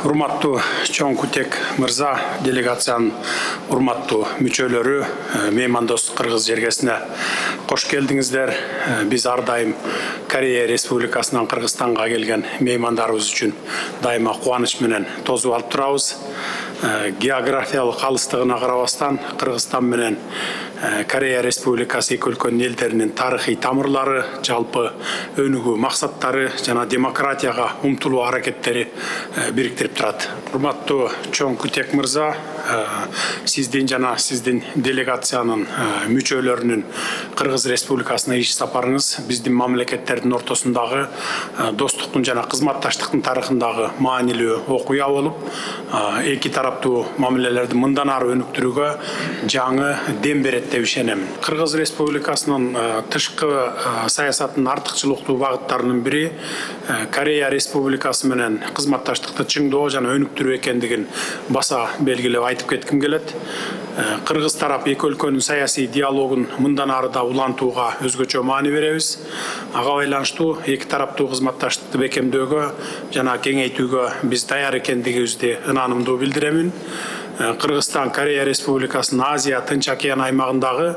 Урматтуу чоң Кутек мырза, делегациянын урматтуу мүчөлөрү, меймандос кыргыз жергесине кош келдиңиздер. Биз ар дайым Корея Республикасынан Кыргызстанга келген меймандарыбыз үчүн дайыма кубаныч менен тосуп алып турабыз. Географиялык алыстыгына карабастан Кыргызстан менен Корея Республикасы эки өлкөнүн элдеринин тарыхый тамырлары, жалпы өнүгүү максаттары жана демократияга умтулуу аракеттери бириктирип турат. Урматтуу чоң Кутек мырза, сиздин жана сиздин делегациянын мүчөлөрүнүн Кыргыз Республикасына иш сапарыңыз биздин мамлекеттердин ортосундагы достуктун жана кызматташтыктын тарыхындагы маанилүү окуя болуп, эки тараптуу мамилелерди мындан ары өнүктүрүүгө жаңы дем берет деп ишенем. Кыргыз Республикасынын тышкы саясатынын артыкчылыктуу багыттарынын бири Корея Республикасы менен кызматташтыкты чыңдоо жана өнүктүрүү экендигин баса белгилеп айтып кетким келет. Кыргыз тарап эки өлкөнүн саясий диалогун мындан ары да улантууга өзгөчө маани беребиз. Ага байланыштуу эки тараптуу кызматташтыкты бекемдөөгө жана кеңейтүүгө биз даяр экендигибизди ынанымдуу билдиремин. Кыргызстан Корея Республикасынын Азия Тынч океан аймагындагы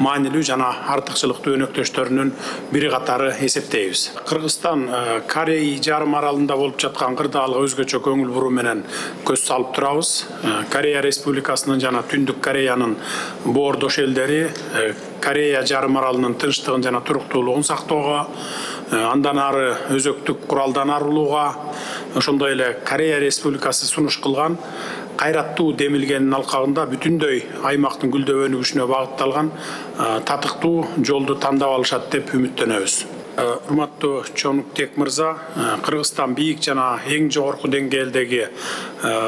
маанилүү жана артыкчылыктуу өнөктөштөрүнүн бири катары эсептейбиз. Кыргызстан Корей жарым аралында болуп жаткан кырдаалга өзгөчө көңүл буруу менен көз салып турабыз. Корея Республикасынын жана Түндүк Кореянын боордош элдери Корея жарым аралынын тынчтыгын жана туруктуулугун сактоого, андан ары өзөктүк куралдан арылууга, ошондой эле Корея Республикасы сунуш кылган кайраттуу демилгенин алкагында бүтүндөй аймактын гүлдөп өнүгүшүнө багытталган татыктуу жолду тандап алышат деп үмүттөнөбүз. Урматтуу чоң Кутек мырза, Кыргызстан бийик жана эң жогорку деңгээлдеги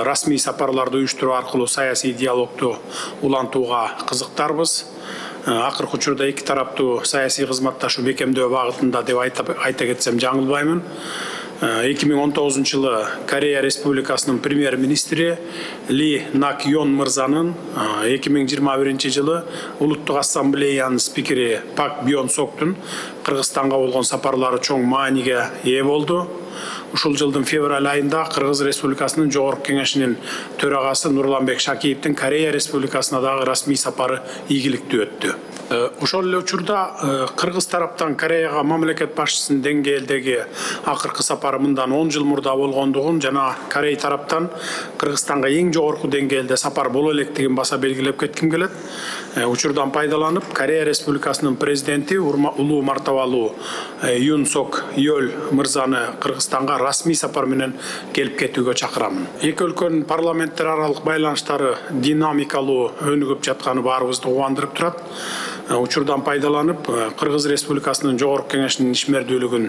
расмий сапарларды уюштуруу аркылуу саясий диалогду улантууга кызыктарбыз. Акыркы учурда эки тараптуу саясий кызматташуу бекемдөө багытында деп айта кетсем жаңылбаймын. 2019 жылы Корея Республикасынын премьер-министри Ли Нак Йон мырзанын 2021 жылы Улуттук ассамблеянын спикери Пак Бьон Соктун Кыргызстанга болгон сапарлары чоң мааниге ээ болду. Ушул жылдын февраль айында Кыргыз Республикасынын Жогорку кеңешинин төрагасы Нурланбек Шакиевдин Корея Республикасына дагы расмий сапары ийгиликтүү өттү. Ошол эле учурда Кыргыз тараптан Кореяга мамлекет башчысынын деңгээлдеги акыркы сапары мындан 10 жыл мурда болгондугун жана Корей тараптан Кыргызстанга эң жогорку деңгээлде сапар боло электигин баса белгилеп кетким келет. Учурдан пайдаланып, Корея Республикасынын президенти улуу мартабалуу Юн Сок Йөл мырзаны Кыргызстанга расмий сапар менен келип кетүүгө чакырамын. Эки өлкөнүн парламенттер аралык байланыштары динамикалуу өнүгүп жатканы баарыбызды кубандырып турат. Учурдан пайдаланып, Кыргыз Республикасынын Жогорку кеңешинин ишмердүүлүгүн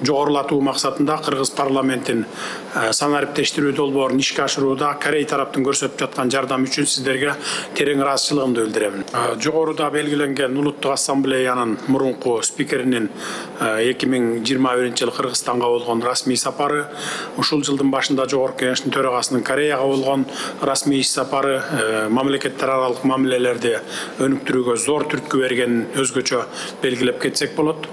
жогорулатуу максатында Кыргыз парламентин санариптештирүү долбоорун ишке ашырууда Корей тараптын көрсөтүп жаткан жардам үчүн сиздерге терең ыраазычылыгымды билдирем. Жогоруда белгиленген Улуттук ассамблеянын мурунку спикеринин 2021 жылы Кыргызстанга болгон расмий сапары, ушул жылдын башында Жогорку кеңештин төрагасынын Кореяга болгон расмий иш сапары мамлекеттер аралык мамилелерди өнүктүрүүгө зор түрткү бергенин өзгөчө белгилеп кетсек болот.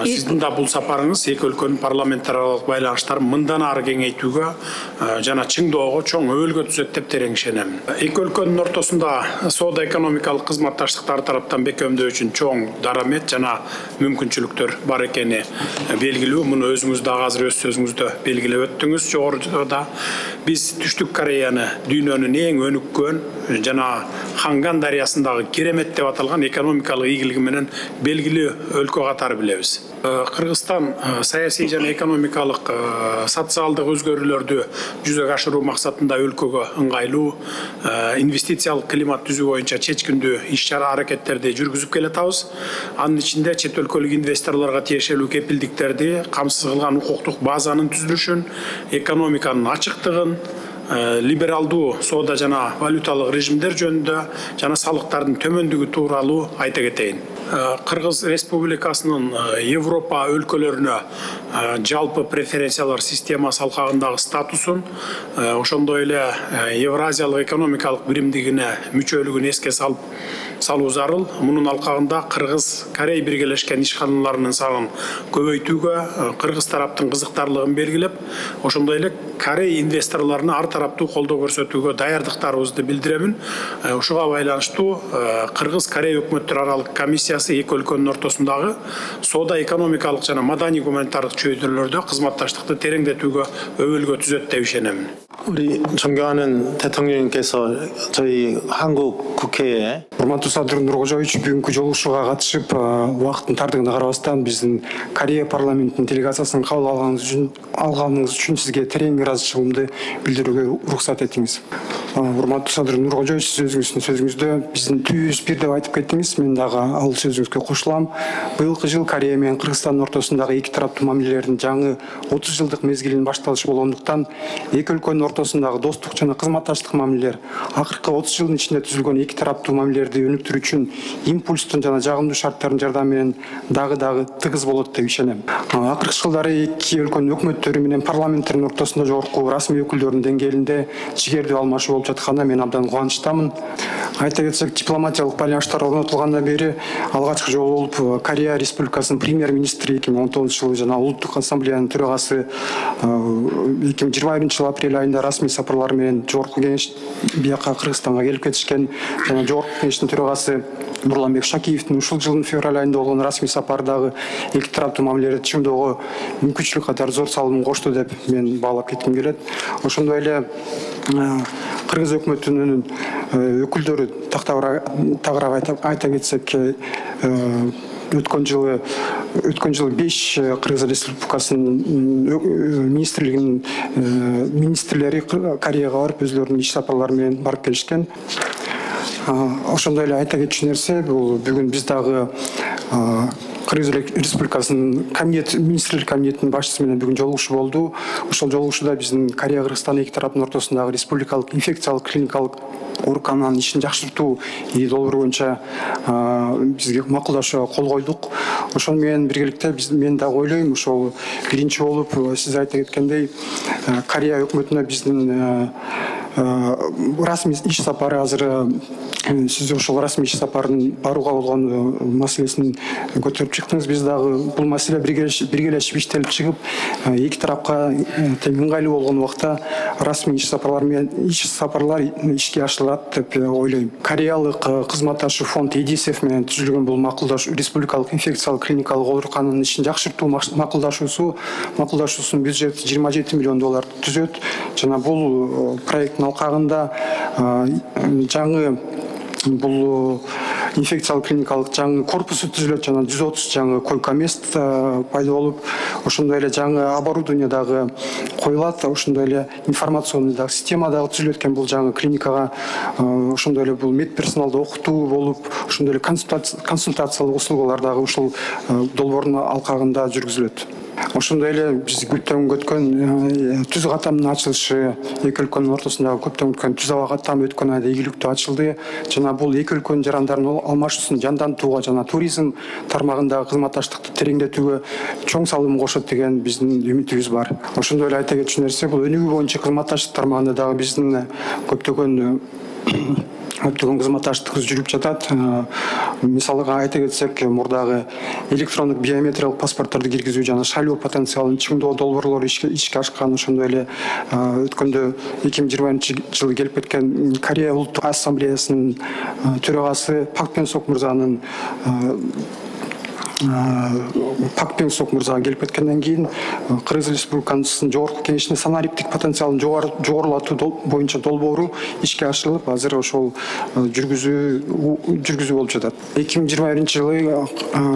Сиздин да бул сапарыңыз эки өлкөнүн парламенттер аралык байланыштарын мындан ары кеңейтүүгө жана чыңдоого чоң өбөлгө түзөт деп терең ишенем. Эки өлкөнүн ортосунда соода экономикалык кызматташтыкты ар тараптан бекемдөө үчүн чоң дарамет жана мүмкүнчүлүктөр бар экени белгилүү. Муну өзүңүз дагы азыр өз сөзүңүздө белгилеп өттүңүз. Жогоруда биз Түштүк Кореяны дүйнөнүн эң өнүккөн жана Ханган дарыясындагы керемет деп аталган экономикалык ийгилиги менен белгилүү өлкө катары билебиз. Кыргызстан саясий жана экономикалык социалдык өзгөрүүлөрдү жүзөгө ашыруу максатында өлкөгө ыңгайлуу инвестициялык климат түзүү боюнча чечкиндүү иш-чара аракеттерди жүргүзүп келатабыз. Анын ичинде чет өлкөлүк инвесторлорго тиешелүү кепилдиктерди камсыз кылган укуктук базанын түзүлүшүн, экономиканын ачыктыгын, либералдуу соода жана валюталык режимдер жөнүндө жана салыктардын төмөндүгү тууралуу айта кетейин. Кыргыз Республикасынын Европа өлкөлөрүнө жалпы преференциялар системасы алкагындагы статусун, ошондой эле Евразиялык экономикалык биримдигине мүчөлүгүн эске салуу зарыл. Мунун алкагында Кыргыз Корей биргелешкен ишканаларынын санын көбөйтүүгө кыргыз тараптын кызыктарлыгын белгилеп, ошондой эле Корей инвесторлоруна ар тараптуу колдоо көрсөтүүгө даярдыктарыбызды билдиремин. Ушуга байланыштуу Кыргыз Корей өкмөттөр аралык комиссиясы эки өлкөнүн ортосундагы соода экономикалык жана маданий гуманитардык чөйрөлөрдө кызматташтыкты тереңдетүүгө өбөлгө түзөт деп ишенемин. 우리 존경하는 대통령님께서 저희 한국 국회에 урматтуу Садыр Нуркожоевич бүгүнкү жолугушууга катышып, убакыттын тардыгына карабастан биздин Корея парламентинин делегациясын кабыл алганыңыз үчүн сизге терең ыраазычылыгымды билдирүүгө уруксат этиңиз. Урматтуу Садыр Нуркожоевич, сиздин сөзүңүздө биздин түз бир деп айтып кеттиңиз. Мен дагы ал сөзүңүзгө кошулам. Быйылкы жыл Корея менен Кыргызстандын ортосундагы эки тараптуу мамилелердин жаңы 30 жылдык мезгилинин башталышы болгондуктан эки өлкөнүн ортосундагы достук жана кызматташтык мамилелер акыркы 30 жылдын ичинде түзүлгөн эки тараптуу мамилелерди өнүктүрүү үчүн импульстун жана жагымдуу шарттардын жардамы менен дагы тыгыз болот деп ишенем. Акыркы жылдары эки өлкөнүн өкмөттөрү менен парламенттердин ортосунда жогорку расмий өкүлдөрдүн деңгээлинде жигердүү алмашуу болуп жатканына мен абдан кубанычтамын. Айта кетсек, дипломатиялык байланыштар орнотулгандан бери алгачкы жолу болуп Корея Республикасынын премьер-министри 2019 жылы жана Улуттук ассамблеянын төрагасы 2021 жыл апрель айында расмий сапарлар менен жогорку кеңеш бияка Кыргызстанга келип кетишкен жана жогорку кеңештин төрагасы Нурланбек Шакиевдин ушул жылдын февраль айында болгон расмий сапардагы эки тараптуу мамилелерди чыңдоого мүмкүнчүлүк катары зор салымын кошту деп мен баалап кетким келет. Ошондой эле Кыргыз өкмөтүнүн өкүлдөрү тагыраак айта кетсек, өткөн жылы 5 Кыргыз Республикасынын министрлери Кореяга барып өзлөрүнүн иш сапарлары менен барып келишкен. Ошондой эле айта кетчү нерсе, бул бүгүн биз дагы Кыргыз Республикасынын министрлер комитетинин башчысы менен бүгүн жолугушуу болду. Ошол жолугушууда биздин Корея Кыргызстан эки тараптын ортосундагы республикалык инфекциялык клиникалык оорукананын ишин жакшыртуу долбоору боюнча бизге макулдашууга кол койдук. Ошол менен биргеликте мен дагы ойлойм, ошол биринчи болуп сиз айта кеткендей Корея өкмөтүнө биздин расмий иш сапары азыр сиз ошол расмий иш сапарын барууга болгон маселесин көтөрүп чыктыңыз. Биз дагы бул маселе биргелешип иштелип чыгып, эки тарапка тең ыңгайлуу болгон убакта расмий иш сапарлар ишке ашырылат деп ойлойм. Кореялык кызматташуу фонд ЕДИСФ менен түзүлгөн бул макулдашуу республикалык инфекциялык клиникалык оорукананын ишин жакшыртуу макулдашуусунун бюджети $27 миллион түзөт жана бул проекттин алкагында жаңы бул инфекциялык клиникалык жаңы корпусу түзүлөт жана 130 жаңы койка мест пайда болуп, ошондой эле жаңы оборудование дагы коюлат, ошондой эле информационный дагы система дагы түзүлөт экен бул жаңы клиникага. Ошондой эле бул медперсоналды окутуу болуп, ошондой эле консультациялык услугалар дагы ушул долбоордун алкагында жүргүзүлөт. Ошондой эле биз көткөн түз катамдын ачылышы, эки өлкөнүн ортосундагы көптөн күткөн түз аба катамы өткөн айда ийгиликтүү ачылды жана бул эки өлкөнүн жарандарын алмашуусун жандантууга жана туризм тармагындагы кызматташтыкты тереңдетүүгө чоң салым кошот деген биздин үмүтүбүз бар. Ошондой эле айта кетчү нерсе, бул өнүгүү боюнча кызматташтык тармагында дагы биздин көптөгөн кызматташтыгыбыз жүрүп жатат. Мисалга айта кетсек, мурдагы электрондук биометриялык паспортторду киргизүү жана шайлоо потенциалын чыңдоо долбоорлору ишке ашкан. Ошондой эле өткөндө 2020 жылы келип кеткен Корея Улуттук ассамблеясынын төрагасы Пак Пен Сок мырзанын келип кеткенден кийин Кыргыз Республикасынын жогорку кеңешинин санариптик потенциалын жогорулатуу боюнча долбоору ишке ашырылып, азыр ошол жүргүзүү болуп жатат. 2021 жылы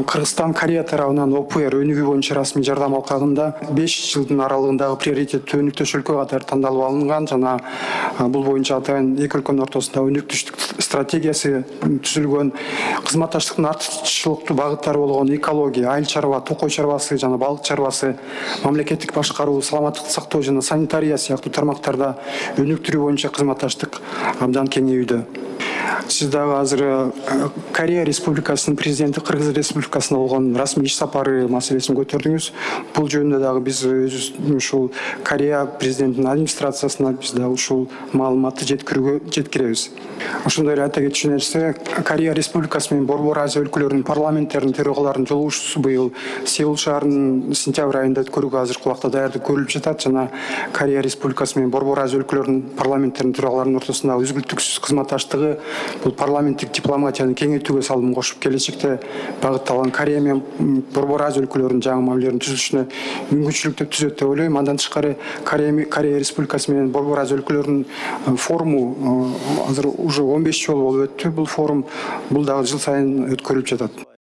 Кыргызстан Корея тарабынан ОПР өнүгүү боюнча расмий жардам алкагында 5 жылдын аралыгындагы приоритеттүү өнүктөш өлкө катары тандалып алынган жана бул боюнча атайын эки өлкөнүн ортосунда өнүктүштүк стратегиясы түзүлгөн. Кызматташтыктын артыкчылыктуу багыттары болгон экология, айыл чарба, токой чарбасы жана балык чарбасы, мамлекеттик башкаруу, саламаттыкты сактоо жана санитария сыяктуу тармактарда өнүктүрүү боюнча кызматташтык абдан кеңейүүдө. Сиз дагы азыр Корея Республикасынын президенти Кыргыз Республикасына болгон расмий иш сапары маселесин көтөрдүңүз. Бул жөнүндө дагы биз өзүбүздүн ушул Корея президентинин администрациясына биз дагы ушул маалыматты жеткиребиз. Ошондой эле айта кетчү нерсе, Корея Республикасы менен Борбор Азия өлкөлөрүнүн парламенттеринин төрагаларынын жолугушуусу быйыл Сеул шаарынын сентябрь айында өткөрүүгө азыркы убакта даярдык көрүлүп жатат жана Корея Республикасы менен Борбор Азия өлкөлөрүнүн парламенттеринин төрагаларынын ортосундагы үзгүлтүксүз кызматташтыгы бул парламенттик дипломатияны кеңейтүүгө салым кошуп, келечекте багытталган Корея менен Борбор Азия өлкөлөрүнүн жаңы мамилелеринин түзүлүшүнө мүмкүнчүлүк түзөт деп ойлойм. Андан тышкары Корея Республикасы менен Борбор Азия өлкөлөрүнүн форуму азыр уже 15 жолу болуп өттү. Бул форум бул дагы жыл сайын өткөрүлүп жатат.